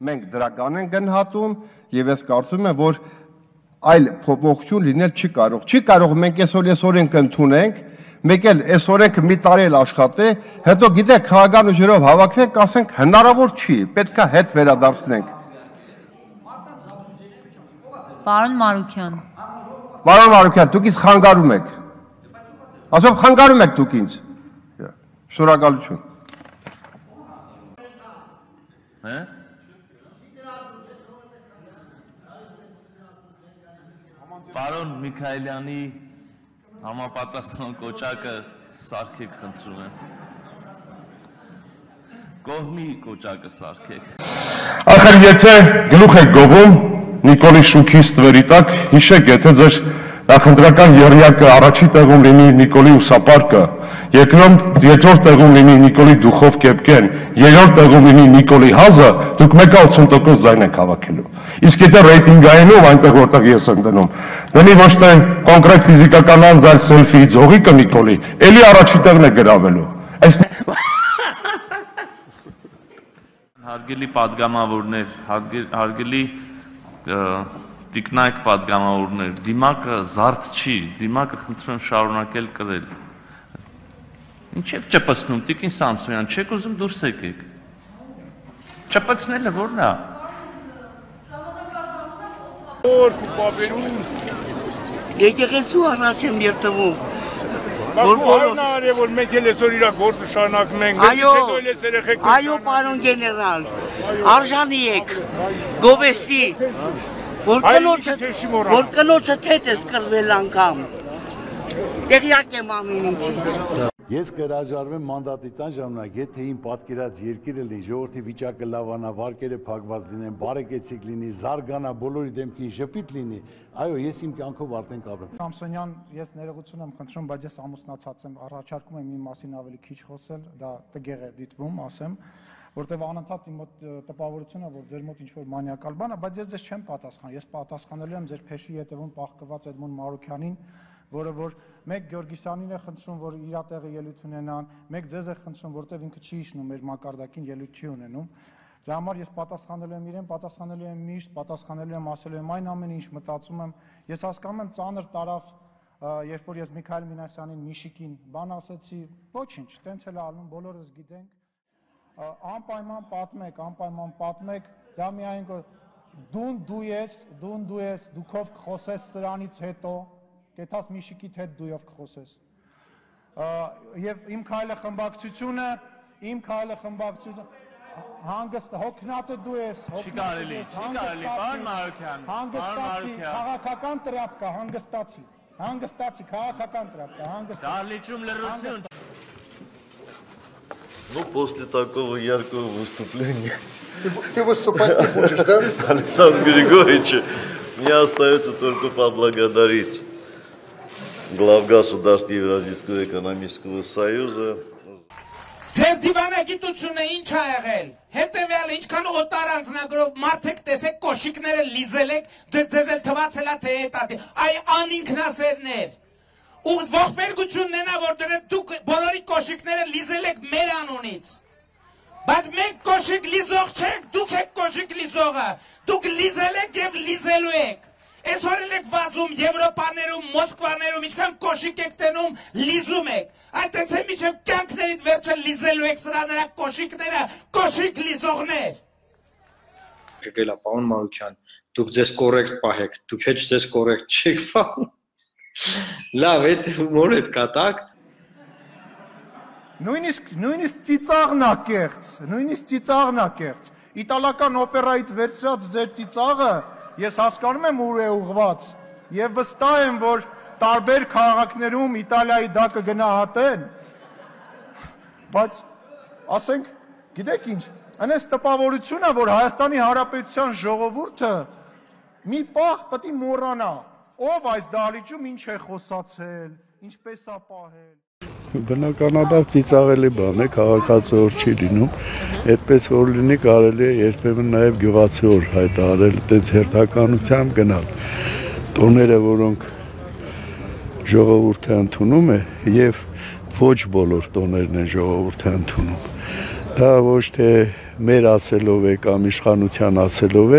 մենք դրական են գնահատում եւ ես կարծում եմ, որ այլ փոփոխություն լինել չի կարող։ Չի կարող մենք այսօր օրենք ընդունենք, մեկ էլ այս օրենքը մի տարի էլ աշխատի, հետո գիտեք քաղաքական ուժերով հավաքվենք, ասենք հնարավոր չի, պետք է հետ վերադարձնենք։ Պարոն Մարուքյան։ Պարոն Մարուքյան, դուք ինձ խանգարում եք։ Ասում խանգարում եք դուք ինձ։ Շնորհակալություն։ Պարոն Միքայելյանի համապատասխան կոչակը սարքեք, խնդրում եմ։ Կողմի կոչակը սարքեք։ Ախր եթե գլուխ եք գովում Նիկոլի շուքի ստվերի տակ, հիշեք, եթե ձեր նախընտրական եռյակը առաջի տեղում լինի Նիկոլի ուսապարկը, երկրորդ տեղում լինի Նիկոլի դուխով կեպկեն, երրորդ տեղում լինի Նիկոլի հազը, դուք 180% ձայն եք հավաքելու։ Իսկ եթե ռեյտինգայինով այնտեղ որտեղ ես եմ դնում, դնի ոչ թե կոնկրետ ֆիզիկական անձ, այլ սելֆիի ձողիկը Նիկոլի, էլի առաջի տեղն է գրավելու։ Հարգելի պատգամավորներ, հարգելի տիկնայք պատգամավորներ, դիմակը զարդ չի, դիմակը խնդրում եմ շարունակել կրել։ Ինչ եք ճպցնում, տիկին Սամսոնյան, չեք ուզում դուրս եկեք։ Ճպցնելը որն է։ Եկեղեցու առաջ եմ երթվում։ Որ մենք էլ այսօր իրա գործը շարունակում ենք։ Այո, պարոն գեներալ, արժանի եք, գովեստի, որ կնոջը թեթ ես կրվել անգամ, տեղյակ եմ ամեն ինչից։ Ես կհրաժարվեմ մանդատից այն ժամանակ, եթե իմ պատկերած երկիրը լինի, ժողովրդի վիճակը լավանա, վարկերը փակված լինեն, բարեկեցիկ լինի, զարգանա, բոլորի դեմքին ժպիտ լինի, այո, ես իմ կյանքով արդեն կապրեմ։ Սամսոնյան, ես ներողություն եմ խնդրում, բայց ես ամուսնացած եմ, առաջարկում եմ իմ մասին ավելի քիչ խոսել, դա տգեղ է դիտվում, ասեմ, որտեղ անընդհատ իմ մոտ տպավորություն է, որ ձեր մոտ ինչ-որ մանյակալ բան է, բայց ես ձեզ չեմ պատասխան, ես պատասխանելու եմ ձեր փեշի ետևում պահկված Էդմոն Մարուքյանին, որը որ մեկ Գյորգիսյանին է խնդրում, որ իր տեղը ելույթ ունենան, մեկ ձեզ է խնդրում, որտեղ ինքը չի իջնում մեր մակարդակին ելույթ չի ունենում։ Դրա համար ես պատասխանելու եմ իրեն, պատասխանելու եմ միշտ, պատասխանելու եմ ասելու եմ այն ամեն ինչ մտածում եմ։ Ես հասկանում եմ ծանր տարավ, երբ որ ես Միքայել Մինասյանին Միշիկին բան ասեցի, ոչինչ, տենց էլ ալնում, բոլորս գիտենք։ Անպայման պատմեք, դա միայն դու ես, դուքով կխոսես սրանից հետո, կեթաս Միշիկիդ հետ դույով կխոսես։ Եվ իմ քայլը խմբակցությունը, հանգստ հոգնածը դու ես, Չի կարելի, պարոն Մարուքյան, հանգստացի, քաղաքական տրապկա, հանգստացի, քաղաքական տրապկա, հանգստացի։ Դահլիճում լռություն։ Ну, после такого яркого выступления... Ты выступать не хочешь, да? Александра Григорьевича, мне остается только поблагодарить главгосударства Евразийского экономического союза. Ձեր դիվանագիտությունը ինչ ա եղել, հետևյալ ինչքան օտար անձնագրով մարդեք տեսեք կոշիկները լիզել եք, ձեզ էլ թվացել է թե հետատի, այ անինքնասերներ, ու ողբերգությունն են որ դուք բոլորի կոշիկները լիզել եք մեր անունից, բայց մենք կոշիկ լիզող չենք, դուք եք կոշիկ լիզողը, դուք լիզել եք և լիզելու եք, այսօր էլ եք վազում Եվրոպաներում, Մոսկվաներում, ինչքան կոշիկ եք տենում, լիզում եք, այդ է միջև կյանքներիդ վերջը լիզելու եք սրա նրա կոշիկները, կոշիկ լիզողներ։ Գելա, պարոն Մարուքյան, դուք ձեզ կորեկտ պահեք, դուք հեչ ձեզ կորեկտ չեք պահում։ Լավ, այդ հումոր էդ կատակ։ Նույնիսկ ծիծաղն ա կեղծ, իտալական օպերայից վերցրած ձեր ծիծաղը ես հասկանում եմ ուր է ուղված և վստահ եմ, որ տարբեր քաղաքներում Իտալիայի դա կգնահատեն, բայց ասենք, գիտեք ինչ, այնպես տպավորություն է, որ Հայաստանի Հանրապետության ժողովուրդը մի պահ պետք է մոռանա, ով այս դահլիճում ինչ է խոսացել, ինչպես է պահել։ Բնականաբար ծիծաղելի բան է, քաղաքացու օր չի լինում, այդպես որ լինի կարելի է երբեմն նաև գյուղացի օր հայտարարել, այդպես հերթականությամբ գնալ։ Տոները, որոնք ժողովուրդը ընդունում է, եւ ոչ բոլոր տոներն են ժողովուրդը ընդունում։ Դա ոչ թե մեր ասելով է կամ իշխանության ասելով է,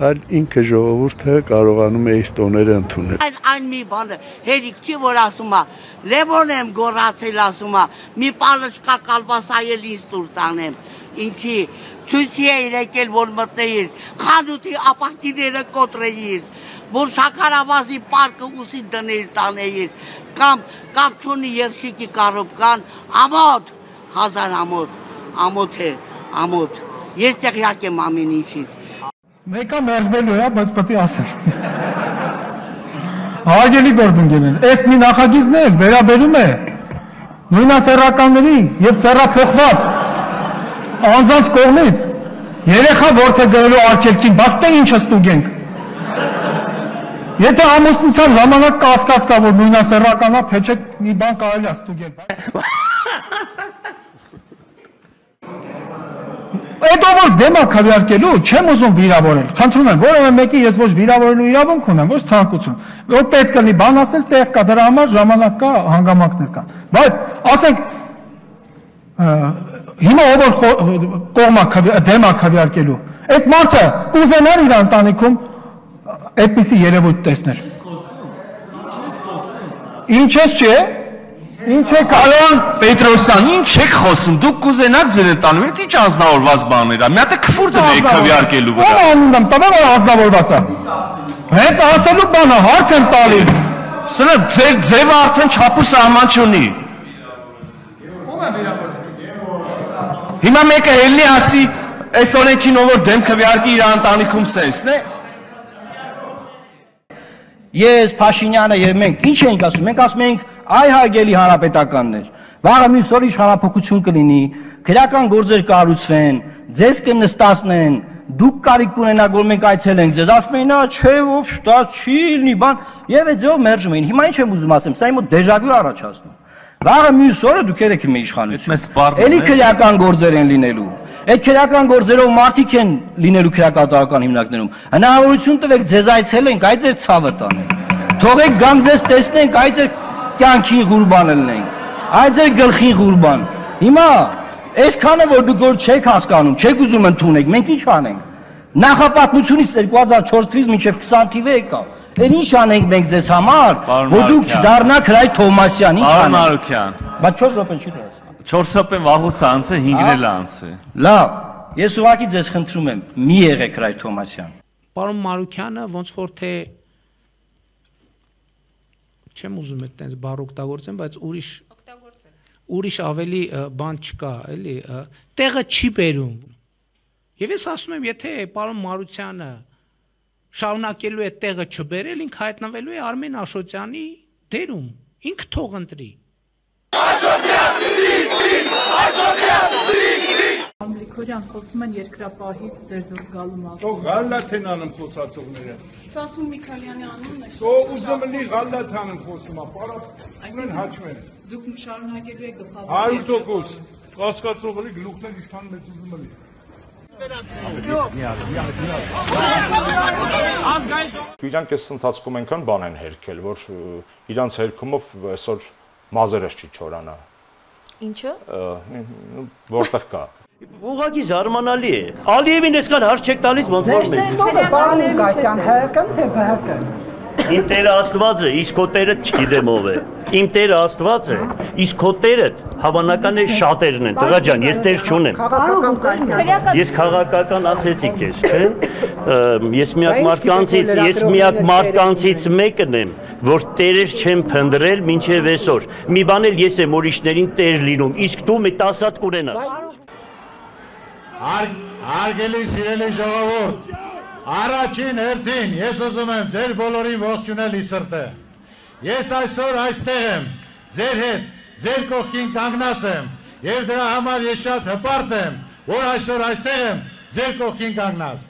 այլ ինքը ժողովուրդը կարողանում է իր տոները ընդունել։ Այն մի բանը հերիք չի որ ասում է, Լևոն եմ գոռացել ասում է, մի պալշկա կալբասայել ինձ տուր տանեմ։ Ինչի ցույցի է եկել որ մտնեիր, խանութի ապակիները կոտրեիր, որ շաքարավազի պարկը ուսի դներ տանեիր, կամ կապ չունի երշիկի կարոպկան, ամոթ, 1000 ամոթ է, ամոթ։ Ես տեղյակ եմ ամեն ինչից։ Մեկը մերժվելու է, բայց պետք է ասել։ Հարգելի գործընկերներ, այս մի նախագիծն է վերաբերում է նույնասեռականների եւ սեռափոխված անձանց կողմից երեխա որդեգրելու արգելքին, բաց թե ինչը ստուգենք։ Եթե ամուսնության ժամանակ կասկած կա, որ նույնասեռականա, թե չէ մի բան կարելի է ստուգել։ Այդ որ դեմ է քվեարկելու, չեմ ուզում վիրավորել։ Խնդրում եմ, որևէ մեկի ես ոչ վիրավորելու իրավունք ունեմ, ոչ ցանկություն։ Որ պետք է բան ասել, տեղ կա, դրա համար ժամանակ կա, հանգամանքներ կան։ Բայց ասենք հիմա ով կողմա դեմ է քվեարկելու։ Այդ մարդը կուզենար իր ընտանիքում այդպիսի երևույթ տեսնել։ Ինչ ես չէ։ Ինչ է Պարոն Պետրոսյան, ինչ եք խոսում, դուք կուզենաք ձեր տանում, այդ ինչ անձնավորված բաներ է, մի հատ է քֆուր դնեք քվեարկելու վրա։ Ո՞ր անունն տվել որ անձնավորված է։ Հենց ասելու բանը հարց եմ տալի։ Սրա ձեր ձևը արդեն չափ ու սահման չունի։ Հիմա մեկը ելնի ասի, այս օրենքին ով որ դեմ քվեարկի իր ընտանիքում սենսն է։ Ես Փաշինյանը եւ մենք ինչ ենք ասում, մենք ասում ենք այ հարգելի հանրապետականներ, վաղը մյուս օր իշխանափոխություն կլինի, քրեական գործեր կառուցվեն, ձեզ կնստացնեն, դուք կարիք կունենաք որ մենք այցելենք ձեզ, ասում են, չէ, ոչ, դա չի լինի, բան, եւ այդ ձեով մերժում էին։ Հիմա ինչ եմ ուզում ասեմ, սա իմ մոտ դեժավյու առաջացնում։ Վաղը մյուս օրը դուք եք մի իշխանություն։ Էլի քրեական գործեր են լինելու։ Այդ քրեական գործերով մարդիկ են լինելու քրեակատարական հիմնարկներում։ Հնարավորություն տվեք ձեզ այցելենք, այ ձեր ցավը տանենք։ Թողեք գամ ձեզ տեսնենք, այ ձեր կյանքին ղուրբան ելնենք, այ ձեր գլխին ղուրբան։ Հիմա այսքանը որ դուք որ չեք հասկանում, չեք ուզում ընդունեք, մենք ինչ անենք։ Նախապատմությունից 2004 թվականից մինչև 20 թիվը եկա։ Էն ինչ անենք մենք ձեզ համար, որ դուք դառնաք Հրայր Թովմասյան, ինչ անենք։ Մարուկյան։ Բայց 4 րոպեն չի դրած։ 4 րոպեն վաղուց անց է, 5-ն էլ անց է։ Լավ, ես ուղղակի ձեզ խնդրում եմ, մի եղեք Հրայր Թովմասյան։ Պարոն Մարուկյանը ոնց որ թե չեմ ուզում այդտենց բառ օգտագործեմ, բայց ուրիշ ավելի բան չկա, էլի, տեղը չի բերում։ Եվ ես ասում եմ, եթե պարոն Մարուկյանը շարունակելու է տեղը չբերել, ինքը հայտնվելու է Արմեն Աշոտյանի դերում, ինքը թող ընտրի։ Գրիգորյան խոսում են երկրապահից ձեր դուրս գալու մասին։ Թող Ղալլաթ են անում խոսացողները։ Սասուն Միքայելյանի անունն է։ Թող ուզում լինի Ղալլաթ անում խոսում, պարապ հաչմեն։ Դուք շարունակելու եք գլխավոր։ 100% կասկածողի գլուխներ իշխան մեծ ուզում լինի։ Իրանք այս ընթացքում այնքան բան են հերքել, որ իրանց հերքումով այսօր մազերս չի չորանա։ Ինչը։ Որտեղ կա։ Ուղղակի զարմանալի է։ Ալիևին այսքան հարց չեք տալիս ոնց որ մեզ։ Պարոն Ղուկասյան, ՀԿ-ն թե ԲՀԿ-ն։ Իմ Տերը Աստված է, իսկ քո Տերը չգիտեմ ով է։ Իմ Տերը Աստված է, իսկ քո Տերը հավանական է շատերն են։ Տղա ջան, ես Տեր չունեմ։ Ես քաղաքական ասեցի քեզ, չէ՞։ Ես միակ մարդկանցից մեկն եմ, որ Տերեր չեմ փնտրել մինչև այսօր։ Մի բան էլ ես եմ ուրիշներին Տեր լինում, իսկ դու մի 10 հատ կունենաս։ Հարգելի սիրելի ժողովուրդ, առաջին հերթին ես ուզում եմ ձեր բոլորին ողջունել ի սրտե։ Ես այսօր այստեղ եմ, ձեր հետ, ձեր կողքին կանգնած եմ, եւ դրա համար ես շատ հպարտ եմ, որ այսօր այստեղ եմ, ձեր կողքին կանգնած։